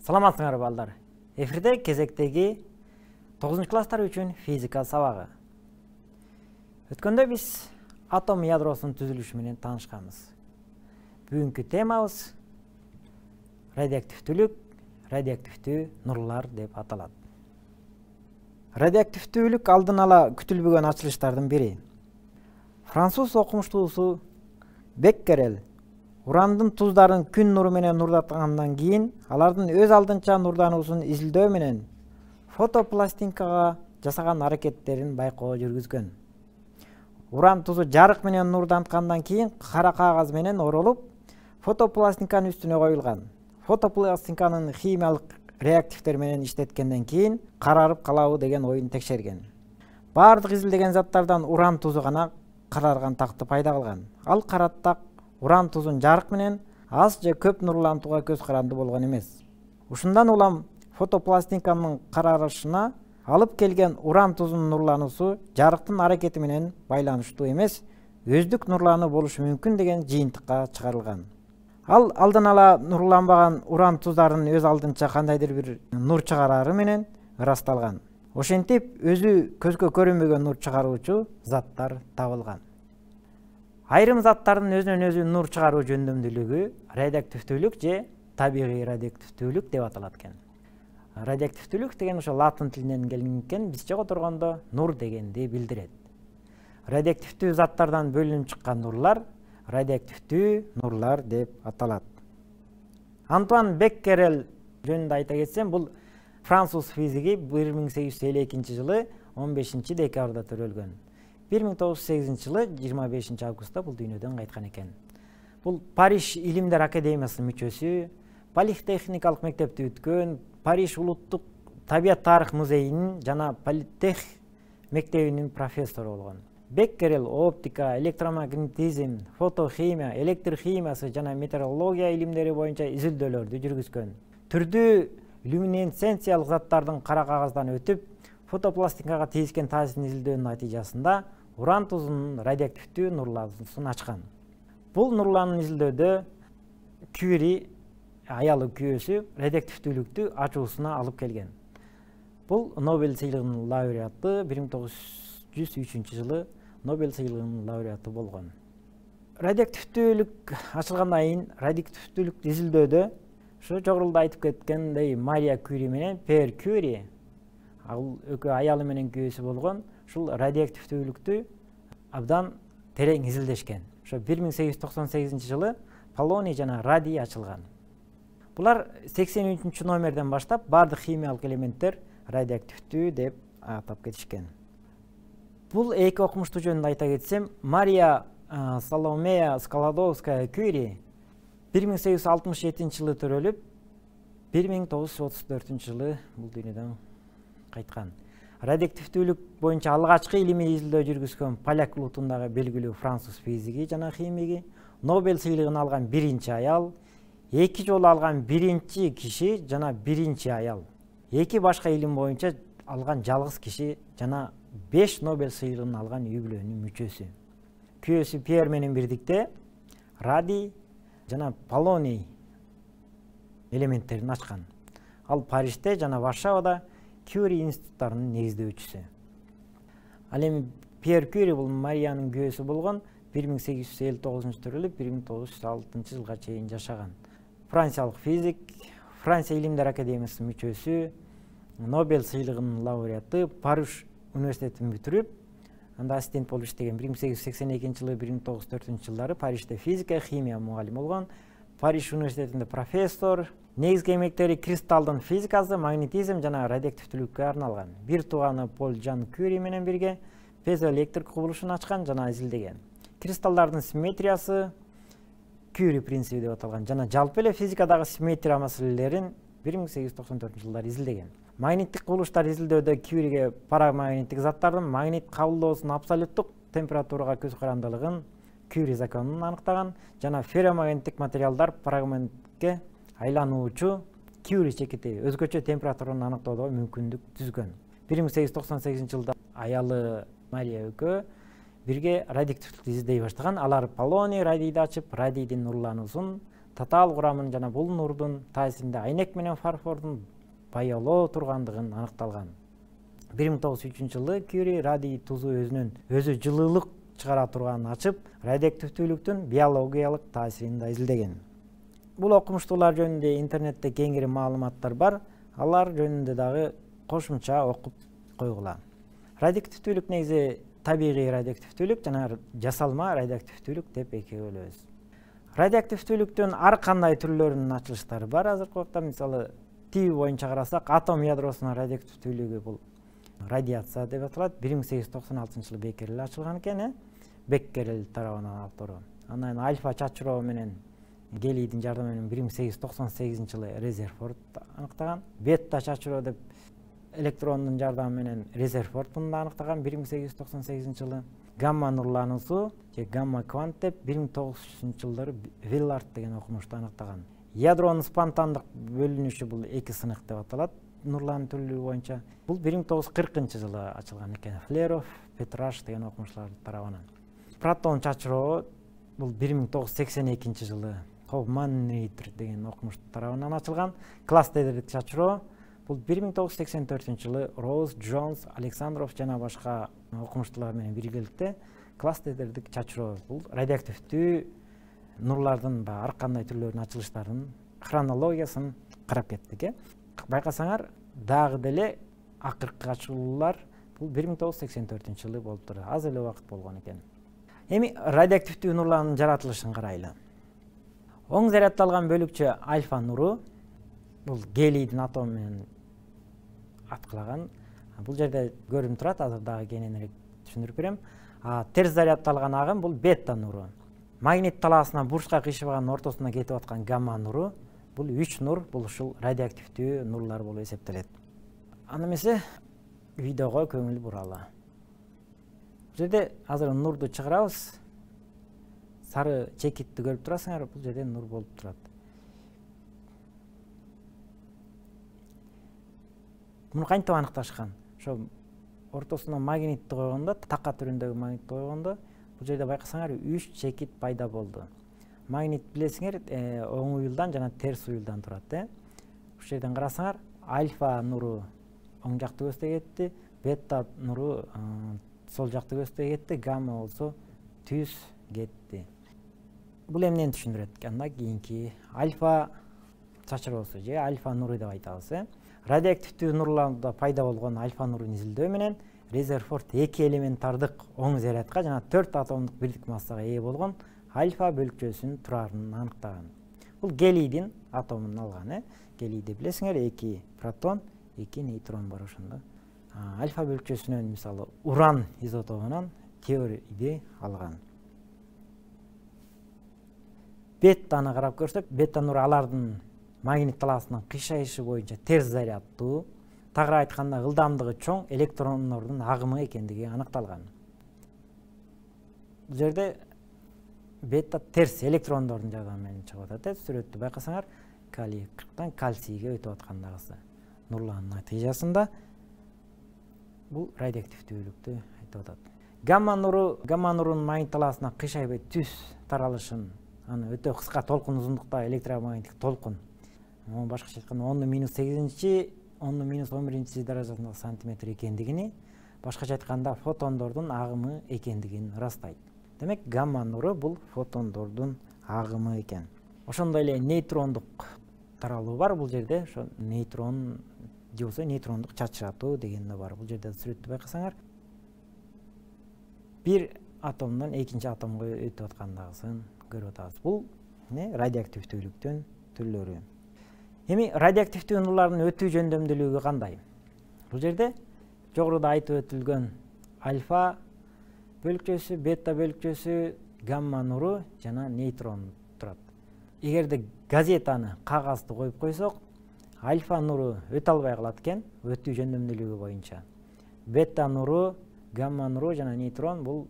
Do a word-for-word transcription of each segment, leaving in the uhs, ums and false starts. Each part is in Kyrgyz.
Саламатсыңар балдар. Эфирде кезектеги тогузунчу класстар үчүн физика сабагы. Өткөндө биз атом ядросунун түзүлүшү менен таанышканбыз. Бүгүнкү темабыз радиоактивдүүлүк, радиоактивдүү нурлар деп аталат. Радиоактивдүүлүк алдын ала күтүлбөгөн ачылыштардын бири. Француз окумуштуусу Беккерел урандын туздарын күн нуру менен нурдаткандан кийин алардын өз алдынча нурдануусун изилдөө менен фотопластинкага жасаган аракеттерин байкоо жүргүзгөн. Уран тузу жарык менен нурданткандан кийин кара кагаз менен оролуп, фотопластинканын үстүнө коюлган. Фотопластинканын химиялык реактивдер менен иштеткенден кийин карарып калабы деген оюн текшерген. Бардык изилдеген заттардан уран тузу гана карарган такты пайда кылган. Ал караттак уран тузун жарык менен аз же көп нурлантууга көз каранды болгон эмес. Ушундан улам фотопластинканын карарышына алып келген уран тузунун нурлануусу жарыктын аракети менен байланыштуу эмес, өздүк нурлануу болушу мүмкүн деген жыйынтыкка чыгарылган. Ал алдын ала нурланбаган уран туздарын өз алдынча кандайдыр бир нур чыгарары менен ырасталган. Ошентип өзү көзгө көрүнбөгөн нур чыгаруучу заттар табылган. Айрым заттардын өзүнөн өзү нур чыгаруу жөндөмдүүлүгү радиоактивдүүлүк же табигый радиоактивдүүлүк деп аталат экен. Радиоактивдүүлүк деген ошо латын тилинен келген экен, бизче которгондо нур дегенди билдирет. Радиоактивдүү заттардан бөлүнүп чыккан нурлар радиоактивдүү нурлар деп аталат. Антуан Беккерел жөнүндө айта кетсем, бул француз физиги бир миң сегиз жүз элүү экинчи жылы он бешинчи декабрда төрөлгөн. бир миң тогуз жүз сегизинчи жылы жыйырма бешинчи августта бул дүйнөдөн кайткан экен. Бул Париж илимдер академиясынын мүчөсү, политехникалык мектепти бүткөн, Париж улуттук табият тарых музейинин жана политех мектебинин профессору болгон. Беккерел оптика, электромагнетизм, фотохимия, электр химиясы жана метеорология илимдери боюнча изилдөөлөрдү жүргүзгөн. Түрдүү люминесценциялык заттардын кара кагаздан өтүп, фотопластинкага тийишкен таасирин изилдөөнүн натыйжасында уран тузунун радиоактивдүү нурлануусун ачкан. Бул нурланууну изилдөөдө Кюри, аялы күйөөсү, радиоактивдүүлүктү ачуусуна алып келген. Бул Нобель сыйлыгынын лауреаты, бир миң тогуз жүз үчүнчү жылы Нобель сыйлыгынын лауреаты болгон. Радиоактивдүүлүк ачылгандан кийин радиоактивдүүлүктү изилдөөдө ошо жогоруда айтып кеткендей Мария Кюри менен Пьер Кюри, ал экөө аялы менен күйөөсү болгон, ушул радиоактивдүүлүктү абдан терең изилдешкен. Ошо бир миң сегиз жүз токсон сегизинчи жылы полоний жана радий ачылган. Булар сексен үчүнчү номерден баштап бардык химиялык элементтер радиоактивдүү деп атап кетишкен. Бул эки окумуштуу жөнүндө айта кетсем, Мария Соломея Складовская Кюри бир миң сегиз жүз алтымыш жетинчи жылы төрөлүп, бир миң тогуз жүз отуз төртүнчү жылы бул дүйнөдөн кайткан. Радиоактивдүүлүк боюнча алгачкы илимий изилдөө жүргүзгөн поляк улутундагы белгилүү француз физиги жана химиги, Нобель сыйлыгын алган биринчи аял, эки жолу алган биринчи киши жана биринчи аял, эки башка илим боюнча алган жалгыз киши жана беш Нобель сыйлыгын алган үй бүлөнүн мүчөсү. Күйөөсү Пьер менен бирдикте радий жана полоний элементтерин ачкан. Ал Парижде жана Варшавада Кюри институттарынын негиздөөчүсү. Ал эми Пьер Кюри бул Мариянын күйөөсү болгон, бир миң сегиз жүз элүү тогузунчу төрөлүп, бир миң тогуз жүз алтынчы жылга чейин жашаган. Франциялык физик, Франция илимдер академиясынын мүчөсү, Нобель сыйлыгынын лауреаты, Париж университетин бүтүрүп, анда ассистент болуп иштеген. бир миң сегиз жүз сексен экинчи жылы, бир миң тогуз жүз төртүнчү жылдары Парижде физика, химия мугалим болгон. Париж университетинде профессор. Негизги эмгектери кристалдын физикасы, магнетизм жана радиоактивдүүлүккө арналган. Бир тууганы Поль Жан Кюри менен бирге пезоэлектрик кубулушун ачкан жана изилдеген. Кристаллдардын симметриясы Кюри принциби деп аталган жана жалпы эле физикадагы симметрия маселелерин бир миң сегиз жүз токсон төртүнчү жылдары изилдеген. Магниттик кубулуштар изилдөөдө Кюриге парамагниттик заттардын магнит кабылдоосунун абсолюттук температурага көз карандылыгын Кюри законун аныктаган жана ферромагниттик материалдар парамагнитке айлануучу Кюри чекити өзгөчө температураны аныктоого мүмкүндүк түзгөн. бир миң сегиз жүз токсон сегизинчи жылда аялы Мария экөө бирге радиоактивдүүлүктү издей баштаган. Алар полоний радийди ачып, радийдин нурлануусун татаал курамын жана бул нурдун таасиринде айнек менен фарфордун баялоо тургандыгын аныкталган. бир миң тогуз жүз үчүнчү жылы Кюри радий тузу өзүнүн өзү жылуулук чыгара турганын ачып, радиоактивдүүлүктүн биологиялык таасирин да изилдеген. Бул окумуштуулар жөнүндө интернетте кеңири маалыматтар бар, алар жөнүндө дагы кошумча окуп койгула. Радиоактивдүүлүк негизи табигый радиоактивдүүлүк жана жасалма радиоактивдүүлүк деп экиге бөлөбүз. Радиоактивдүүлүктүн ар кандай түрлөрүнүн ачылыштары бар. Азыркы убакта мисалы тиби боюнча карасак, атом ядросунун радиоактивдүүлүгү бул радиация деп аталат. бир миң сегиз жүз токсон алтынчы жылы Беккерель ачылган экен, э? Беккерель тарабынан автору. Анан альфа чачыроо менен гелийдин жардамы менен бир миң сегиз жүз токсон сегизинчи жылы Резерфорд аныктаган. Бетта чачыроо деп электрондун жардамы менен Резерфорд мында аныктаган бир миң сегиз жүз токсон сегизинчи жылы. Гамма нурлануусу же гамма квант деп бир миң тогуз жүзүнчү жылдары Виллард деген окумушту аныктаган. Ядронун спонтандык бөлүнүшү бул эки сынык деп аталат. Нурлануу түрлүгү боюнча бул бир миң тогуз жүз кыркынчы жылы ачылган экен. Флеров, Петраш деген окумуштуулар тарабынан. Протон чачыроо бул бир миң тогуз жүз сексен экинчи жылы Хофман Рейтер деген окумуштуу тарабынан ачылган. Кластердик чачыроо бул бир миң тогуз жүз сексен төртүнчү жылы Роуз, Джонс, Александров жана башка окумуштуулар менен биргеликте кластердик чачыроо бул радиоактивдүү нурлардын ар кандай түрлөрүнүн ачылыштарынын хронологиясын карап кеттик, э? Байкасаңар, дагы деле акыркы ачылуулар бул бир миң тогуз жүз сексен төртүнчү жылы болуп турду. Аз эле убакыт болгон экен. Эми радиоактивдүү нурлардын жаратылышын карайлы. Оң заряддалган бөлүкчө альфа нуру бул гелийдин атому менен аткылаган. Бул жерде көрүнүп турат, азыр дагы кененирээк түшүндүрүп берем. А терс заряддалган агым бул бета нуру. Магнит талаасына бурчка кыйшыбаган ортосуна кетип аткан гамма нуру бул үч нур, бул ушул радиоактивдүү нурлар болуп эсептелет. Аны эмесе видеого көңүл буралы. Бул жерде азыр нурду чыгарабыз. Сары чекитти көрүп турасыңар, бул жерде нур болуп турат. Муну кантип аныкташкан? Ошо ортосуна магнитти койгондо, така түрүндөгү магнитти койгондо, бул жерде байкасаңар үч чекит пайда болду. Магнит билесиңер, оң уюлдан жана терс уюлдан турат, э? Ушул жерден карасаңар, альфа нуру оң жакты көздөй кетти, бета нуру сол жакты көздөй кетти, гамма болсо түз кетти. Бул эмнени түшүндүрөт? Андан кийинки альфа чачыроосу же альфа нуру деп айтабыз, э? Радиоактивдүү нурларда пайда болгон альфа нурун изилдөө менен Резерфорд эки элементардык оң зарядка жана төрт атомдук бирдик массага ээ болгон альфа бөлүкчөсүнүн турарын аныктаган. Бул гелийдин атомун алган, э? Гелийде билесиңер, эки протон, эки нейтрон бар ошондо. Альфа бөлүкчөсүнөн мисалы уран изотопунан теорияды алган. Беттаны карап көрсөк, бета нуру алардын магнит талаасынын кыйшайышы боюнча терс заряддуу, тагыраак айтканда ылдамдыгы чоң электрондордун агымы экендиги аныкталган. Бул жерде бета терс электрондордун жардамы менен чыгып атат. Сүрөттү байкасаңар, калий кырктан кальцийге өтүп аткандагысы нурлардын натыйжасында бул радиоактивдүүлүктү айтып атат. Гамма нуру, гамма нурунун магнит талаасына кыйшайбай түз таралышын, аны өтө кыска толкун узундукта электромагниттик толкун. Муну башкача айтканда он минус сегизинчи, он минус он биринчи даражасындагы сантиметр экендигини, башкача айтканда фотондордун агымы экендигин ырастайт. Демек, гамма нуру бул фотондордун агымы экен. Ошондой эле нейтрондук таралуу бар бул жерде. Ошо нейтрон же болсо нейтрондук чачыратуу деген да бар. Бул жерде сүрөттү байкасаңар, бир атомдон экинчи атомго өтүп аткандагысын көрүп атабыз. Бул радиоактивдүүлүктүн түрлөрү. Эми радиоактивдүү нурлардын өтүү жөндөмдүүлүгү кандай? Бул жерде жогоруда айтып өтүлгөн альфа бөлүкчөсү, бета бөлүкчөсү, гамма нуру жана нейтрон турат. Эгерде газетаны, кагазды коюп койсок, альфа нуру өтө албай калат экен, өтүү жөндөмдүүлүгү боюнча. Бета нуру, гамма нуру жана нейтрон бул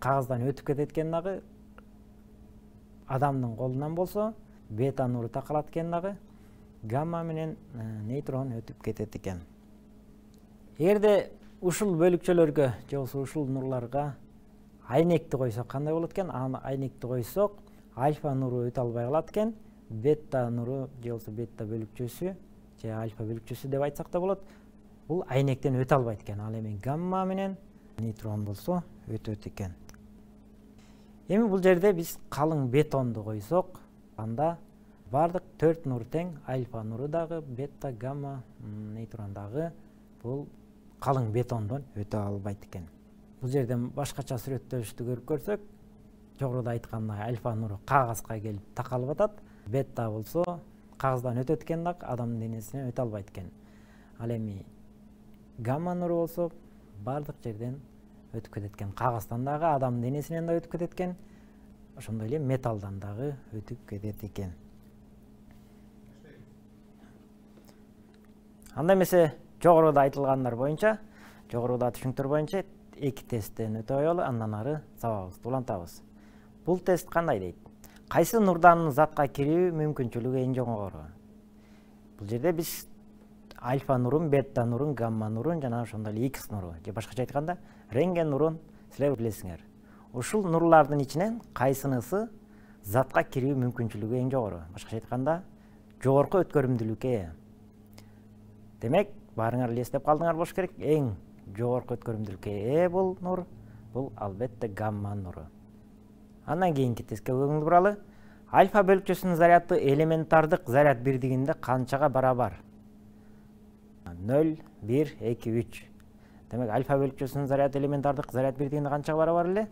кагаздан өтүп кетет экен дагы. Адамдын колунан болсо, бета нуру такалат экен дагы, гамма менен нейтрон өтүп кетет экен. Эгерде ушул бөлүкчөлөргө же болбосо ушул нурларга айнекти койсок кандай болот экен? Аны айнекти койсок, альфа нуру өтө албай калат экен. Бета нуру же болбосо бета бөлүкчөсү же альфа бөлүкчөсү деп айтсак да болот. Бул айнектен өтө албайт экен. Ал эми гамма менен нейтрон болсо өтөт экен. Эми бул жерде биз калың бетонду койсок, анда бардык төрт нур тең, альфа нуру дагы, бета, гамма, нейтрон дагы бул калың бетондон өтө албайт экен. Бул жерден башкача сүрөттөлүштү көрүп көрсөк, жогоруда айткандай альфа нуру кагазга келип такалып атат, бета болсо кагаздан өтөт экен дагы, адамдын денесинен өтө албайт экен. Ал эми гамма нуру болсо бардык жерден өтүп кетет экен. Кагаздан дагы, адамдын денесинен да өтүп кетет экен. Ошондой эле металлдан дагы өтүп кетет экен. Анда эмесе жогоруда айтылгандар боюнча, жогоруда түшүнүктөр боюнча эки тесттен өтө алалы, андан ары сабагыбызды улантабыз. Бул тест кандай дейт? Кайсы нурдан затка кирүү мүмкүнчүлүгү эң жогору? Бул жерде биз альфа нурун, бета нурун, гамма нурун жана ошондой эле X нуру, же башкача айтканда рентген нурун силер билесиңер. Ушул нурлардын ичинен кайсынысы затка кирүү мүмкүнчүлүгү эң жогору? Башкача айтканда жогорку өткөрүмдүүлүккө ээ. Демек, баарыңар эле эстеп калдыңар болуш керек. Эң жогорку өткөрүмдүүлүккө ээ бул нур, бул албетте гамма нуру. Андан кийинки тестке көңүл буралы. Альфа бөлүкчөсүнүн заряды элементардык заряд бирдигинде канчага барабар? ноль, бир, эки, үч. Демек, альфа бөлүкчөсүнүн заряды элементардык заряд бирдигинде канчага барабар эле?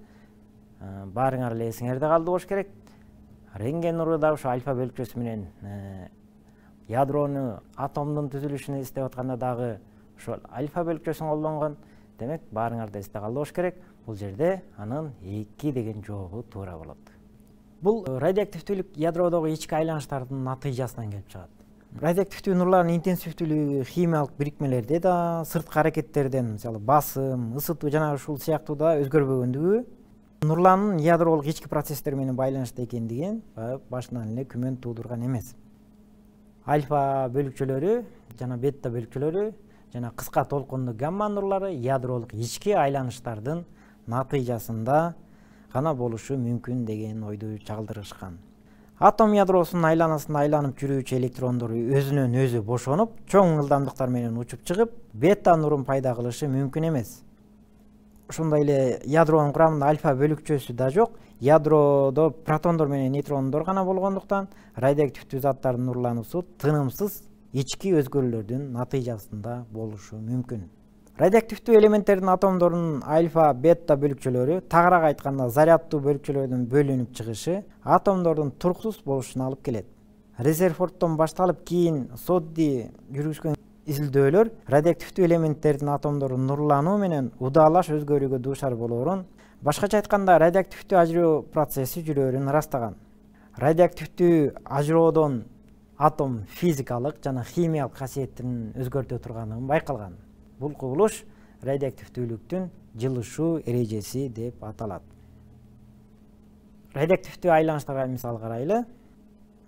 Баарыңар эле эсиңерде калды болуш керек. Рентген нуру да ошо альфа бөлүкчөсү менен ядрону, атомдун түзүлүшүнү эстеп атканда дагы ошол альфа бөлүкчөсүн колдонгон. Демек, баарыңарда эсте калды болуш керек. Бул жерде анын эки деген жообу туура болот. Бул радиоактивдүүлүк ядродогу ички айланыштардын натыйжасынан келип чыгат. Радиоактивдүү нурлардын интенсивдүүлүгү химиялык бирикмелерде да, сырткы аракеттерден, мисалы басым, ысытуу жана ушул сыяктуу да өзгөрбөгөндүгү нурланын ядролук ички процесстер менен байланышта экендигин башынан эле күмөн туудурган эмес. Альфа бөлүкчөлөрү жана бета бөлүкчөлөрү жана кыска толкундуу гамма нурлары ядролук ички айланыштардын натыйжасында гана болушу мүмкүн деген ойду чагылдырышкан. Атом ядросунун айланасында айланып жүрүүчү электрондор өзүнөн өзү бошонуп, чоң ылдамдыктар менен учуп чыгып, бета нурун пайда кылышы мүмкүн эмес. Ошондой эле ядронун курамында альфа бөлүкчөсү да жок. Ядродо протондор менен нейтрондор гана болгондуктан радиоактивдүү заттардын нурлануусу тынымсыз ички өзгөрүүлөрдүн натыйжасында болушу мүмкүн. Радиоактивдүү элементтердин атомдорунун альфа, бета бөлүкчөлөрү, тагыраак айтканда заряддуу бөлүкчөлөрдүн бөлүнүп чыгышы атомдордун туруксуз болушуна алып келет. Резерфорддон башталып кийин Содди жүргүзгөн изилдөөлөр радиоактивдүү элементтердин атомдорунун нурлануу менен удаалаш өзгөрүүгө дуушар болоорун, башкача айтканда радиоактивдүү ажыроо процесси жүрөөрүн ырастаган. Радиоактивдүү ажыроодон атом физикалык жана химиялык касиетин өзгөртө турганын байкалган. Бул кубулуш радиоактивдүүлүктүн жылышуу эрежеси деп аталат. Радиоактивдүү айланыштарга мисал карайлы.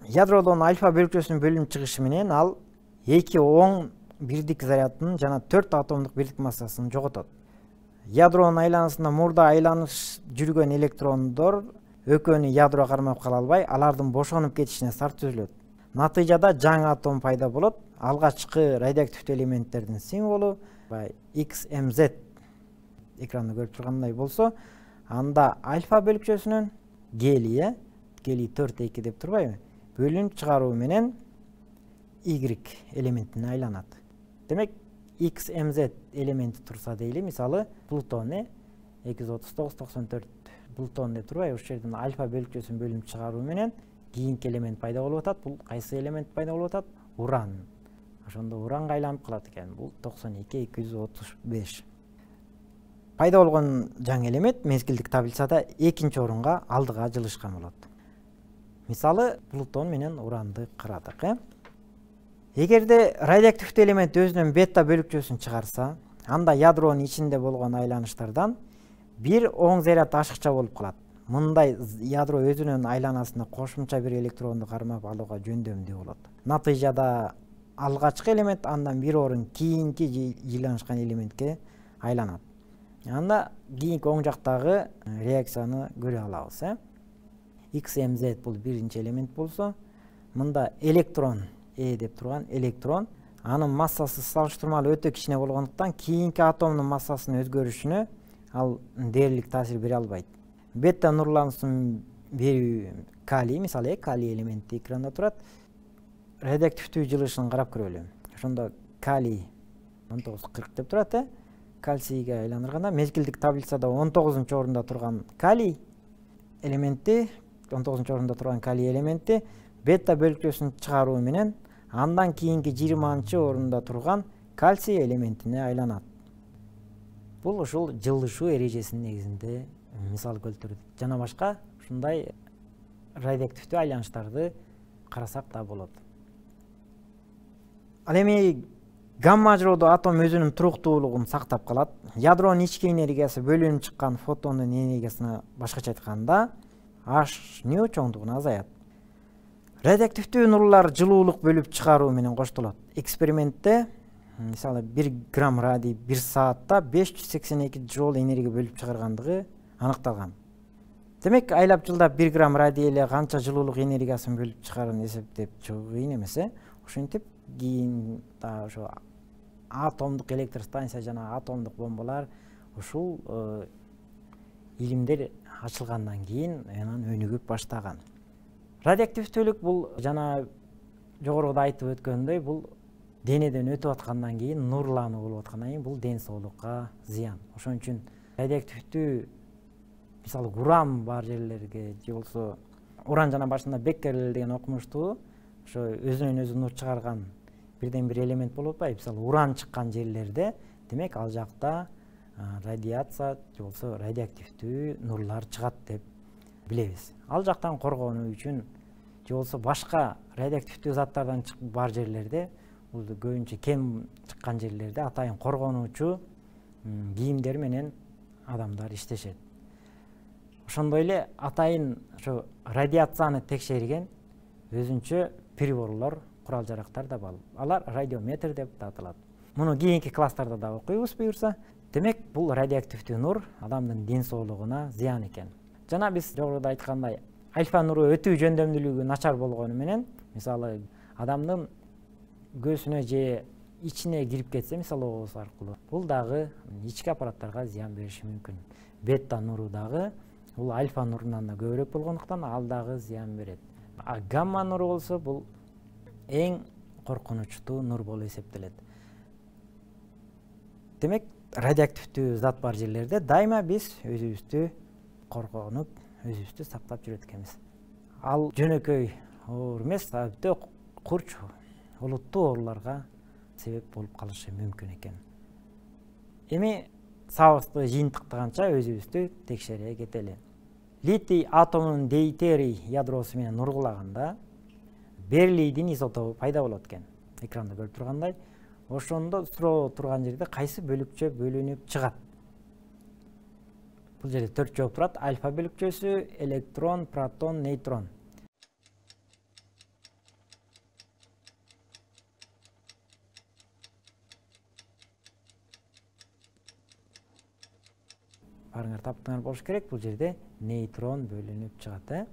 Ядродон альфа бөлүкчөсүнүн бөлүнүп чыгышы менен ал эки оң бирдик зарядын жана төрт атомдук бирдик массасын жоготот. Ядронун айланасында мурда айланыш жүргөн электрондор экөөнү ядро кармап кала албай, алардын бошонуп кетишине шарт түзүлөт. Натыйжада жаңы атом пайда болот. Алгачкы радиоактивдүү элементтердин символу X M Z экранда көрүп тургандай болсо, анда альфа бөлүкчөсүнүн гелий, гелий төрт эки деп турбайбы? Бөлүнүп чыгаруу менен Y элементине айланат. Демек, X M Z элементи турса дейли, мисалы, Плутон эки жүз отуз тогуз токсон төрт Плутон деп турбайбы? Ушул жерден альфа бөлүкчөсүн бөлүнүп чыгаруу менен кийинки элемент пайда болуп атат. Бул кайсы элемент пайда болуп атат? Уран. Ошондо уранга айланып калат экен. Бул токсон эки эки жүз отуз беш. Пайда болгон жаңы элемент мезгилдик таблицада экинчи орунга алдыга жылышкан болот. Мисалы, Плутон менен уранды карадык, э? Эгерде радиоактивдүү элемент өзүнүн бета бөлүкчөсүн чыгарса, анда ядронун ичинде болгон айланыштардан бир оң заряд ашыкча болуп калат. Мындай ядро өзүнүн айланасында кошумча бир электронду кармап алууга жөндөмдүү болот. Натыйжада алгачкы элемент андан бир орун кийинки жыйланышкан элементке айланат. Анда кийинки оң жактагы реакцияны көрө алабыз, э? X M Z бул биринчи элемент болсо, мында электрон Э деп турган электрон, анын массасы салыштырмалуу өтө кичине болгондуктан кийинки атомдун массасынын өзгөрүшүнө ал дээрлик таасир бере албайт. Бета нурлануусун берүү калий, мисалы калий элементи экранда турат. Радиоактивдүү жылышын карап көрөлү. Ошондо калий он тогуз кырк деп турат, э? Кальцийге айландырганда мезгилдик таблицада он тогузунчу орунда турган калий элементи, он тогузунчу орунда турган калий элементи бета бөлүкчөсүн чыгаруу менен андан кийинки жыйырманчы орунда турган кальций элементине айланат. Бул ушул жылышуу эрежесинин негизинде мисал келтирет. Жана башка ушундай радиоактивдүү айланыштарды карасак да болот. Ал эми гамма ажыроодо атом өзүнүн туруктуулугун сактап калат. Ядронун ички энергиясы бөлүнүп чыккан фотондун энергиясына башкача айтканда H ню чоңдугуна азаят. Радиоактивдүү нурлар жылуулук бөлүп чыгаруу менен коштолот. Экспериментте мисалы бир грамм радий бир саатта беш жүз сексен эки джоул энергия бөлүп чыгаргандыгы аныкталган. Демек, айлап жылдап бир грамм радий эле канча жылуулук энергиясын бөлүп чыгарын эсептеп чыгуу кыйын эмес, э? Ошентип кийин да ошо атомдук электростанция жана атомдук бомбалар ушул илимдер ачылгандан кийин анан өнүгүп баштаган. Радиоактивдүүлүк бул жана жогоруда айтып өткөндөй, бул денеден өтүп аткандан кийин, нурлануу болуп аткандан кийин бул ден соолукка зыян. Ошон үчүн радиоактивдүү мисалы уран бар жерлерге же болсо уран жана башында Беккерель деген окумуштуу ошо өзүнөн өзү нур чыгарган бирден бир элемент болуп атпайбы? Мисалы уран чыккан жерлерде, демек ал жакта радиация же болсо радиоактивдүү нурлар чыгат деп билебиз. Ал жактан коргонуу үчүн же болсо башка радиоактивдүү заттардан бар жерлерде, бул көбүнчө кем чыккан жерлерде атайын коргонуучу кийимдер менен адамдар иштешет. Ошондой эле атайын ошо радиацияны текшерген өзүнчө приборлор, курал жарактар да бар. Алар радиометр деп аталат. Муну кийинки класстарда да окуйбуз буюрса. Демек, бул радиоактивдүү нур адамдын ден соолугуна зыян экен. Жана биз жогоруда айткандай, альфа нуру өтүү жөндөмдүүлүгү начар болгону менен, мисалы адамдын көзүнө же ичине кирип кетсе, мисалы ооз аркылуу, бул дагы ички аппараттарга зыян бериши мүмкүн. Бета нуру дагы бул альфа нурунан да көбүрөөк болгондуктан ал дагы зыян берет. А гамма нуру болсо бул эң коркунучтуу нур болуп эсептелет. Демек, радиоактивдүү зат бар жерлерде дайыма биз өзүбүздү коргонуп, өзүбүздү сактап жүрөт экенбиз. Ал жөнөкөй оор эмес, өтө курч, олуттуу ооруларга себеп болуп калышы мүмкүн экен. Эми сабызды жыйынтыктаганча өзүбүздү текшере кетели. Литий атомунун дейтерий ядросу менен нургулаганда берлийдин изотопу пайда болот экен. Экранда көрүп тургандай, ошондо суроо турган жерде кайсы бөлүкчө бөлүнүп чыгат? Бул жерде төрт жооп турат. Альфа бөлүкчөсү, электрон, протон, нейтрон. Барыңар таптыңар болуш керек, бул жерде нейтрон бөлүнүп чыгат, э?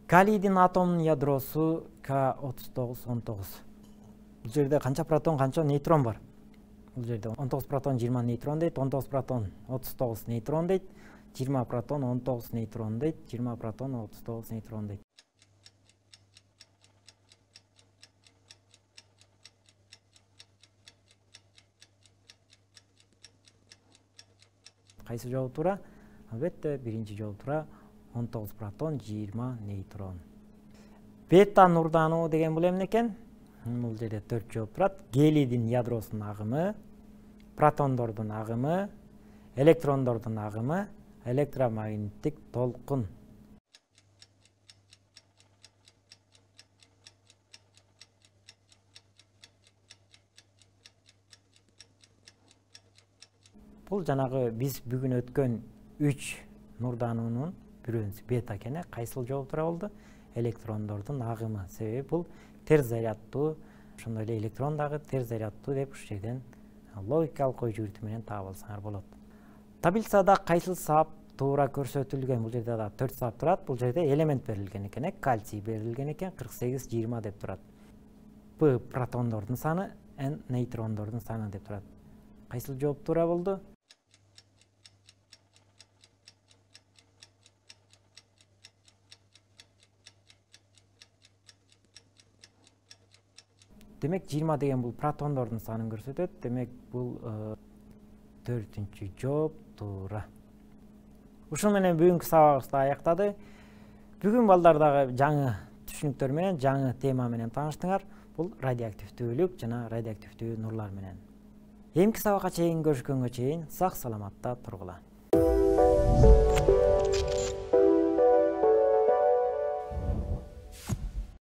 Калийдин атомунун ядросу К отуз тогуз он тогуз. Бул жерде канча протон, канча нейтрон бар? Бул жерде он тогуз протон, жыйырма нейтрон дейт, он тогуз протон, отуз тогуз нейтрон дейт, жыйырма протон, он тогуз нейтрон дейт, жыйырма протон, отуз тогуз нейтрон дейт. Кайсы жооп туура? Албетте, биринчи жооп туура. он тогуз протон, жыйырма нейтрон. Бета нурдануу деген бул эмне экен? Бул жерде төрт жооп турат. Гелийдин ядросунун агымы, протондордун агымы, электрондордун агымы, электромагниттик толкун. Бул жанагы биз бүгүн өткөн үч нурдануунун бирөөсү бета экен. Кайсыл жооп туура болду? Электрондордун агымы. Себеби бул терс зарядтуу, ошондой эле электрон дагы терс зарядтуу деп ушул жерден логикалык ой жүгүртүү менен таап алсаңар болот. Таблицада кайсыл сабап туура көрсөтүлгөн. Бул жерде да төрт саат турат. Бул жерде элемент берилген экен, кальций берилген экен, кырк сегиз жыйырма деп турат. П протондордун саны, Н нейтрондордун саны деп турат. Кайсыл жооп туура болду? Демек жыйырма деген бул протондордун санын көрсөтөт. Демек бул төртүнчү жооп туура. Ушун менен бүгүнкү сабагыбызды аяктады. Бүгүн балдар дагы жаңы түшүнүктөр менен, жаңы тема менен тааныштыңар. Бул радиоактивдүүлүк жана радиоактивдүү нурлар менен. Эмки сабакка чейин көрүшкөнгө чейин сак саламатта тургула.